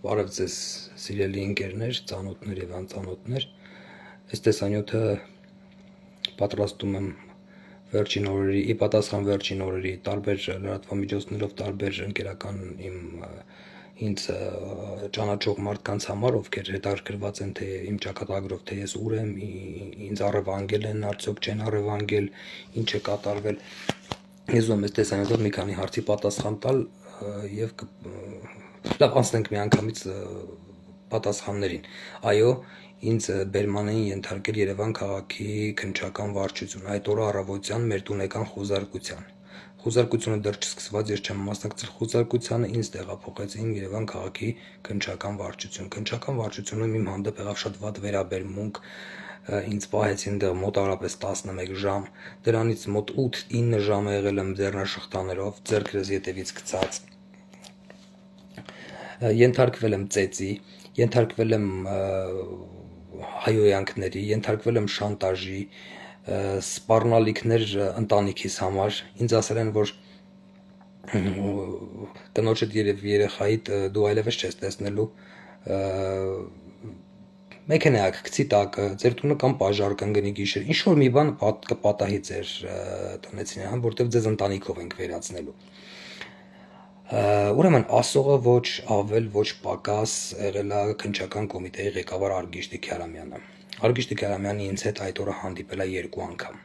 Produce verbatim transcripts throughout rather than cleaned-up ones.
Բարև ձեզ սիրելի ընկերներ, ծանոթներ և անծանոթներ, այս տեսանյութը պատրաստում եմ վերջին օրերի, ի պատասխան վերջին օրերի տարբեր լրատվամիջոցներով տարբեր ընկերական իմ ինձ ճանաչող մարդկանց համար, ովքեր հետաքրքրված են թե իմ ճակատագրով, թե ես ուր եմ, ինձ առևանգել են, արդյոք չեն առևանգել, ինչ է կատարվել։ Ես ուզում եմ այս տեսանյութով մի քանի հարցի պատասխան տալ և լավ անցնենք միանգամից պատասխաններին։ Այո, ինձ բերման էին ենթարկել Երևան քաղաքի քննչական վարչություն, այդ օրը առավոտյան մեր տուն եկան խոզարկության։ Խոզարկությունը դեռ չսկսված, ես չեմ մասնակցել խոզարկությանը, ինձ տեղափոխեցին Երևան քաղաքի քննչական վարչություն։ Քննչական վարչությունում իմ հանդեպ եղավ շատ վատ վերաբերմունք, ինձ պահեցին դեռ մոտավորապես տասնմեկ ժամ, դրանից մոտ ութ-ինը ժամ եղել եմ ձեռնաշղթաներով, ձեռքերս ետևից գցած, ենթարկվել եմ ծեծի, ենթարկվել եմ հայհոյանքների, ենթարկվել եմ շանտաժի, սպառնալիքներ ընտանիքիս համար, ինձ ասել են, որ կնոջդ և երեխայիդ դու այլևս չես տեսնելու, մեքենայք գցի տակը, ձեր տունը կամ պաժար կընկնի գիշեր, ինչ-որ մի բան կպատահի ձեր տնեցին, որտև ձեզ ընտանիքով ենք վերացնելու։ Ուրեմն ասողը ոչ ավել, ոչ պակաս եղել է քննչական կոմիտեի ղեկավար Արգիշտի Քյարամյանը։ Արգիշտի Քյարամյանը ինձ հետ այդ օրը հանդիպել է երկու անգամ։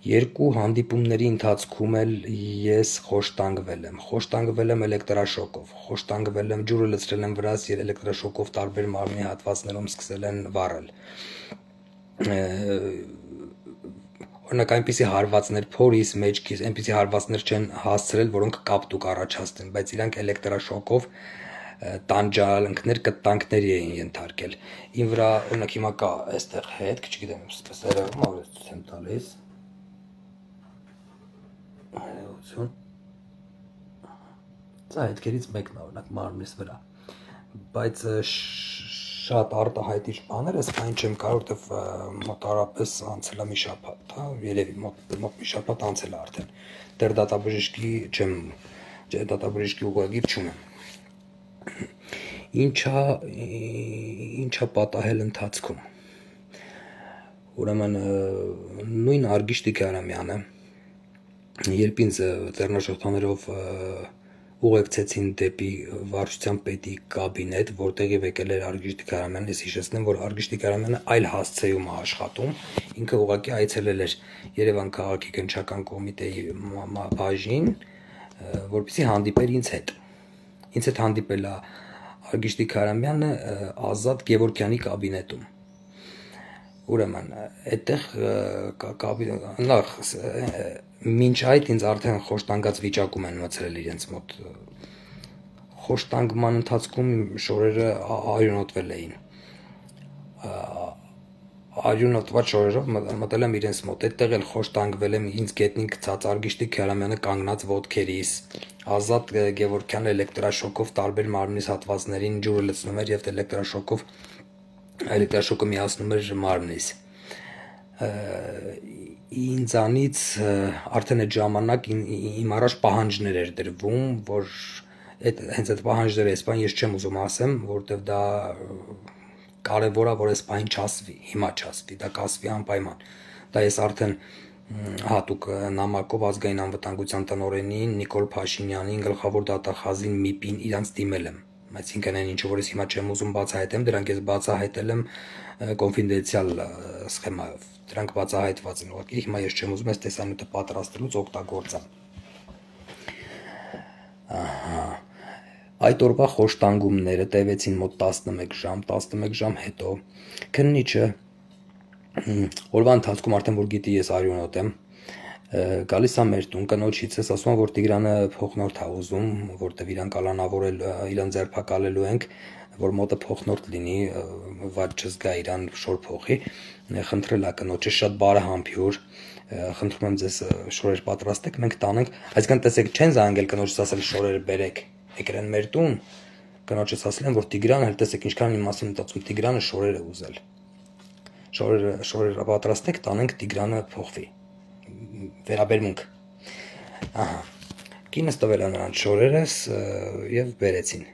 Երկու հանդիպումների ընթացքում էլ ես խոշտանգվել եմ, խոշտանգվել եմ էլեկտրաշոկով, խոշտանգվել եմ, ջուրը լցրել եմ վրաս և էլեկտրաշոկով տարբեր մարմնի հատվածներում սկսել են վառել։ Օրինակ այնպիսի հարվածներ փորիս, մեջքիս, այնպիսի հարվածներ չեն հասցրել, որոնք կապտուկ առաջացնեն, բայց իրանք էլեկտրաշոկով տանջանքներ, կտանքների էին ենթարկել։ Իմ վրա, օրինակ հիմա կա այստեղ հետ, չգիտեմ, սպես երևում, ով ես ցույց եմ տալիս։ Այո, սա հետքերից մեկն է, օրինակ մարմնիս վրա, բայց շատ արտահայտիչ բաներ, այսքան չեմ կարող, որտեվ մոտավորապես անցել է մի շաբաթ, հա, երևի մոտ մի շաբաթ անցել է արդեն։ Դեռ դատաբժշկի չեմ, դատաբժշկի ուղղագիր չունեմ։ Ինչա ինչա պատահել ընթացքում։ Ուրեմն նույն Արգիշտի Քյարամյանը, երբ ինձ ձեռնաշղթաներով ուղեկցեցին դեպի վարչության պետի կաբինետ, որտեղև եկել էր Արգիշտի Քյարամյանը, ես հիշեցնեմ, որ Արգիշտի Քյարամյանը այլ հասցեում է աշխատում, ինքը ուղղակի այցելել էր Երևան քաղաքի քննչական կոմիտեի բաժին, որպեսզի հանդիպեր ինձ հետ։ Ինձ հետ հանդիպել է Արգիշտի Քյարամյանը Ազատ Գևորգյանի կաբինետում։ Ուրեմն, այդտեղ նախ մինչ այդ ինձ արդեն խոշտանգած վիճակում են մցրել իրենց մոտ։ Խոշտանգման ընթացքում շորերը արյունոտվել էին։ Արյունոտված շորերով մտել եմ իրենց մոտ, այդտեղ էլ խոշտանգվել եմ, ինձ գետնին գցած, Արգիշտի Քյարամյանը կանգնած ոտքերիս, Ազատ Գևորգյանը էլեկտրաշոկով տարբեր մարմնիս հատվածներին ջուրը լցնում էր և էլեկտրաշոկով էլեկտրաշոկը միացնում էր մարմնիս։ Ինձանից արդեն այդ ժամանակ իմ առաջ պահանջներ էր դրվում, որ հենց այդ պահանջները այս բան ես չեմ ուզում ասեմ, որովհետև դա կարևոր է, որ այս բան չասվի, հիմա չասվի, դա կասվի անպայման։ Դա ես արդեն հատուկ նամակով ազգային անվտանգության տնօրենին Նիկոլ Փաշինյանին, գլխավոր դատախազին ՄԻՊ-ին իրանց դիմել եմ։ Այսինքն այն ինչ որ ես հիմա չեմ ուզում բացահայտեմ, դրանք ես բացահայտել եմ կոնֆիդենցիալ սխեմայով։ Դրանք բացահայտված են, ուղղակի հիմա ես չեմ ուզում այս տեսանյութը պատրաստելուց օգտագործեմ։ Ահա։ Այդ օրվա խոշտանգումները տևեցին մոտ տասնմեկ ժամ, տասնմեկ ժամ հետո քննիչը օրվա ընթացքում արդեն որ գիտի ես արյունոտ եմ, գալիս է մեր տուն, կնոջիցս ասում է, որ Տիգրանը փոխնորդ է ուզում, որտեվ իրան կալանավորել, իրան ձերբակալելու ենք, որ մոտը փոխնորդ լինի, վատ չզգա իրան շոր փոխի, խնդրել է կնոջը շատ բարեհամբույր, խնդրում եմ ձեզ շորեր պատրաստեք, մենք տանենք, այսինքն տեսեք չեն զանգել կնոջս ասել շորերը բերեք, եկել են մեր տուն, կնոջս ասել են, որ Տիգրանը, հենց տեսեք ինչքան իմ մասին մտածում, Տիգրանը շորեր է ուզել, շորերը շորերը պատրաստեք, տանենք Տիգրանը փոխվի, վերաբերմունք, ահա, կինս տվել է նրանց շորերս և բերեցին,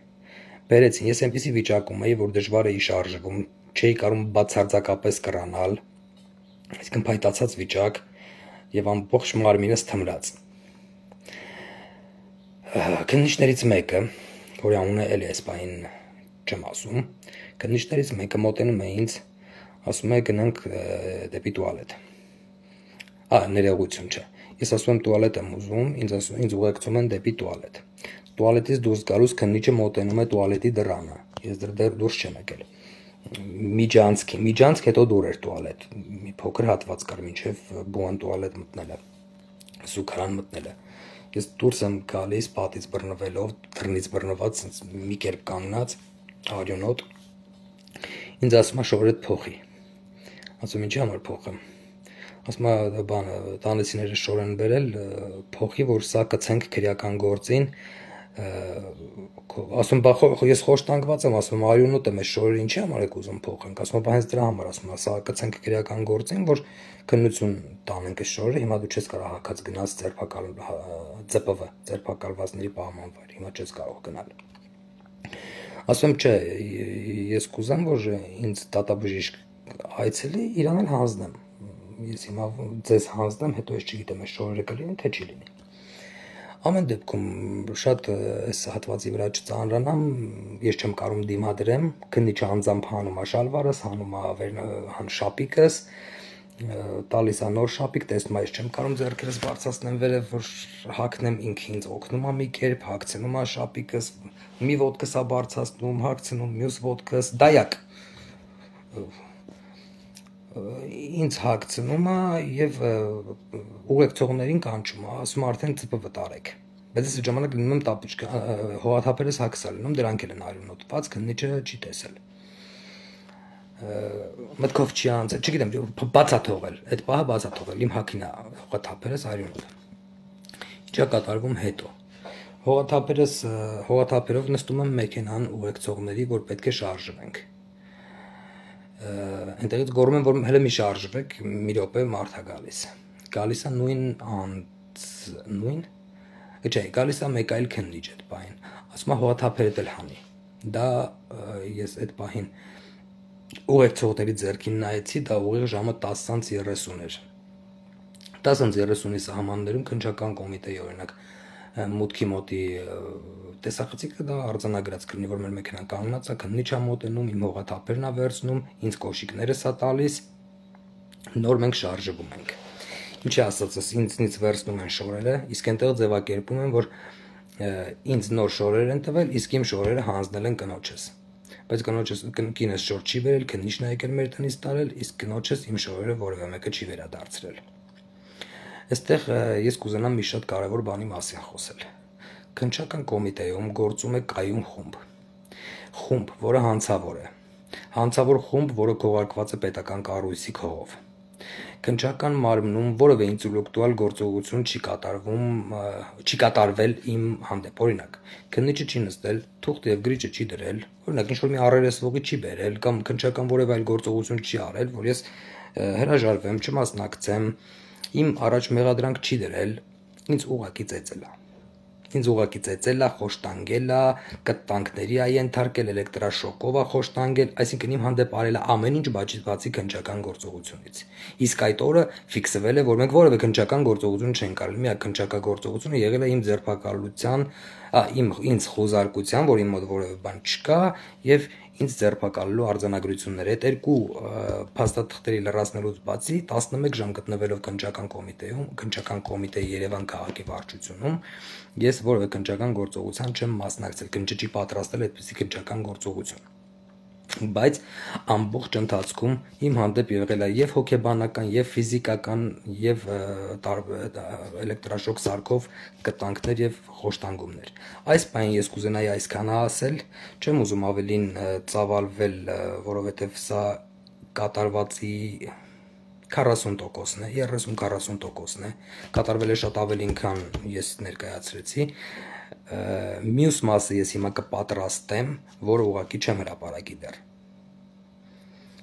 բերեցին, ես այնպիսի վիճակում էի, որ դժվար էի շարժվում, չէի կարող բացարձակապես կռանալ, այսինքն փայտացած վիճակ եւ ամբողջ մարմինս թմրած։ Քննիչներից մեկը, որի անունը էլ է սպային չեմ ասում, քննիչներից մեկը մոտենում է ինձ, ասում է գնանք դեպի տուալետ։ Ա, ներողություն չէ։ Ես ասում եմ տուալետ եմ ուզում, ինձ ասում ինձ ուղեկցում են դեպի տուալետ։ Տուալետից դուրս գալուց քննիչը մոտենում է տուալետի դռանը։ Ես դեռ դուրս չեմ եկել։ Միջանցքի, միջանցք հետո դուր էր տուալետ։ Մի փոքր հատված կար մինչև բուան տուալետ մտնելը, զուգարան մտնելը։ Ես դուրս եմ գալիս պատից բռնվելով, դռնից բռնված մի կերպ կանգնած, արյունոտ։ Ինձ ասում է շորերդ փոխի։ Ասում ինչի համար փոխեմ։ Ասում է բանը, տանեցիները շոր են բերել, փոխի, որ սա կցենք քրեական գործին։ Ասում բա ես խոշտանգված եմ, ասում արյունոտ եմ, այս շորերը ինչի համար եք ուզում փոխենք։ Ասում բա հենց դրա համար, ասում սա կցենք քրեական գործին, որ քննություն տանենք այս շորերը, հիմա դու չես կարող հակած գնաց ձերբակալ ՁՊՎ, ձերբակալվածների պահման վայր, հիմա չես կարող գնալ։ Ասում չէ, ես կուզեմ, որ ինձ դատաբժիշկ այցելի, իրան էլ հանձնեմ։ Ես հիմա ձեզ հանձնեմ, հետո ես չգիտեմ այս շորերը կլինի, թե չի լինի։ Ամեն դեպքում շատ այս հատվածի վրա չծանրանամ, ես չեմ կարող դիմադրեմ, քննիչը անձամբ հանում է շալվարս, հանում է շապիկս, տալիս է նոր շապիկ, տեսնում է, ես չեմ կարող ձեռքերս բարձրացնեմ վերև, որ հագնեմ, ինքը ինձ օգնում է մի կերպ, հագցնում է շապիկս, մի ոտքս է բարձրացնում, հագցնում, մյուս ոտքս, դայակ ինձ հագցնում է եւ ուղեկցողներին կանչում է, ասում արդեն ՑՊՎ տարեք։ Բայց ես ժամանակ լինում եմ տապուճկա, հողաթափերս հագսալ լինում, դրանք էլ են արյունոտված, քննիչը չի տեսել։ Մտքով չի անցել, չգիտեմ, բաց է թողել, այդ պահը բաց է թողել, իմ հագին է հողաթափերս արյունոտ։ Ինչա կատարվում հետո։ Հողաթափերս, հողաթափերով նստում եմ մեքենան ուղեկցողների, որ պետք է շարժվենք։ Այնտեղից գոռում են, որ հələ մի շարժվեք, մի րոպե մարդ է գալիս։ Գալիս է նույն անց նույն Չէ, գալիս է մեկ այլ քննիչ այդ պահին։ Ասում է հողաթափերդ էլ հանի։ Դա ես այդ պահին ուղեկցողների ձեռքին նայեցի, դա ուղիղ ժամը տասը երեսուն էր։ տասը երեսունի սահմաններում քննչական կոմիտեի օրինակ մուտքի մոտի տեսախցիկը դա արձանագրած կլինի, որ մեր մեքենան կանգնած է, քննիչ է մոտենում, իմ հողաթափերն է վերցնում, ինձ կոշիկներս է տալիս, նոր մենք շարժվում ենք։ Ինչի ասածս, ինձնից վերցնում են շորերը, իսկ այնտեղ ձևակերպում են, որ ինձ նոր շորեր են տվել, իսկ իմ շորերը հանձնել են կնոջս։ Բայց կնոջս կինս շոր չի վերել, քննիչն է եկել մեր տնից տարել, իսկ կնոջս իմ շորերը որևէ մեկը չի վերադարձրել։ Այստեղ ես կուզենամ մի շատ կարևոր բանի մասին խոսել։ Քննչական կոմիտեում գործում է կայուն խումբ։ Խումբ, որը հանցավոր է։ Հանցավոր խումբ, որը քողարկված է պետական կառույցի քողով։ Քննչական մարմնում որևէ ինտելեկտուալ գործողություն չի կատարվում, չի կատարվել իմ հանդեպ։ Օրինակ, քննիչը չի նստել, թուղթ եւ գրիչը չի դրել, օրինակ ինչ-որ մի առերեսվողի չի բերել կամ քննչական որևէ այլ գործողություն չի արել, որ ես հրաժարվեմ, չմասնակցեմ, իմ առաջ մեղադրանք չի դրել, ինձ ուղակի ծեծել է։ Ինձ ուղակի ծեծել է, խոշտանգել է, կտանքների է ենթարկել, էլեկտրաշոկով է խոշտանգել, այսինքն իմ հանդեպ արել է ամեն ինչ բացի քննչական գործողությունից։ Իսկ այդ օրը ֆիքսվել է, որ մենք որևէ քննչական գործողություն չենք արել, միակ քննչական գործողությունը եղել է իմ ձերբակալության, իմ ինձ խոզարկության, որ իմ մոտ որևէ բան չկա, եւ ինձ ձերբակալելու արձանագրություններ։ Այդ երկու փաստաթղթերի լրացնելուց բացի տասնմեկ ժամ գտնվելով քննչական կոմիտեում, քննչական կոմիտեի Երևան քաղաքի վարչությունում, ես որևէ քննչական գործողության չեմ մասնակցել, քննիչը չի պատրաստել այդպիսի քննչական գործողություն։ Բայց ամբողջ ընթացքում իմ հանդեպ եղել է եւ հոգեբանական, եւ ֆիզիկական, եւ էլեկտրաշոկ սարքով կտանքներ եւ խոշտանգումներ։ Այս բանը ես կուզենայի այսքանը ասել, չեմ ուզում ավելին ծավալվել, որովհետեւ սա կատարվածի քառասուն տոկոսն է, երեսուն քառասուն տոկոսն է, կատարվել է շատ ավելին, քան ես ներկայացրեցի։ Մյուս մասը ես հիմա կպատրաստեմ, որը ուղղակի չեմ հրապարակի դեռ։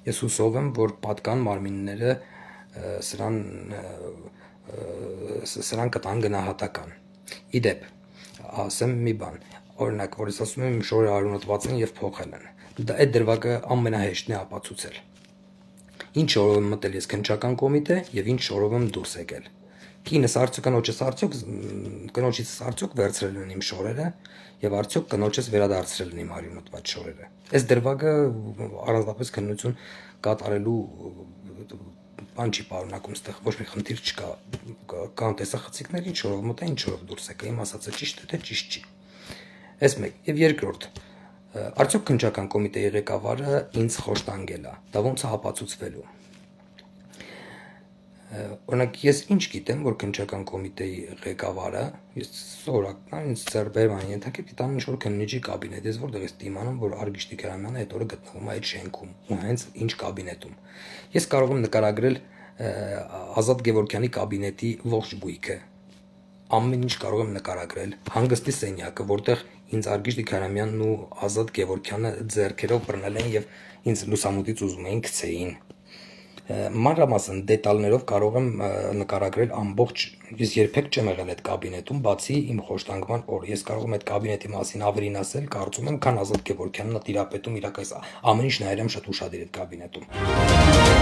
Ես հուսով եմ, որ պատկան մարմինները սրան սրան կտան գնահատական։ Իդեպ, ասեմ մի բան, օրինակ, որ ես ասում եմ իմ շորերը արյունոտված են եւ փոխել են։ Դա այդ դրվագը ամենահեշտն է ապացուցել։ Ինչ շորով եմ մտել ես քննչական կոմիտե եւ ինչ շորով եմ դուրս եկել։ Կինս արդյոք կնոջս արդյոք կնոջից արդյոք վերցրել են իմ շորերը եւ արդյոք կնոջս վերադարձրել են իմ արյունոտված շորերը։ Այս դրվագը առանձնապես քննություն կատարելու բան չի պարունակում, այստեղ ոչ մի խնդիր չկա, կան տեսախցիկներ, ինչ շորով մտա, ինչ շորով դուրս եկա, իմ ասածը ճիշտ է, թե ճիշտ չի։ Այս մեկ, եւ երկրորդ, արդյոք քննչական կոմիտեի ղեկավարը ինձ խոշտանգել է, դա ոնց է ապացուցվելու։ Օրինակ, ես ինչ գիտեմ, որ քննչական կոմիտեի ղեկավարը, ես սովորական ինձ ծերբերման ենթակետ դիտան ինչ որ քննիչի կաբինետ, ես որտեղ ես դիմանում, որ Արգիշտի Քերամյանը այդ օրը գտնվում է այդ շենքում, ու հենց ինչ կաբինետում։ Ես կարող եմ նկարագրել Ազատ Գևորգյանի կաբինետի ողջ գույքը։ Ամեն ինչ կարող եմ նկարագրել, հանգստի սենյակը, որտեղ ինձ Արգիշտի Քերամյանն ու Ազատ Գևորգյանը ձեռքերով բռնել են եւ ինձ լուսամուտից ուզում էին գցեին։ Մանրամասն դետալներով կարող եմ նկարագրել ամբողջ, ես երբեք չեմ եղել այդ կաբինետում, բացի իմ խոշտանգման օր։ Ես կարող եմ այդ կաբինետի մասին ավելին ասել, կարծում եմ, քան Ազատ Գևորգյանն է տիրապետում իրակայս ամեն ինչ նայել եմ շատ ուշադիր այդ կաբինետում։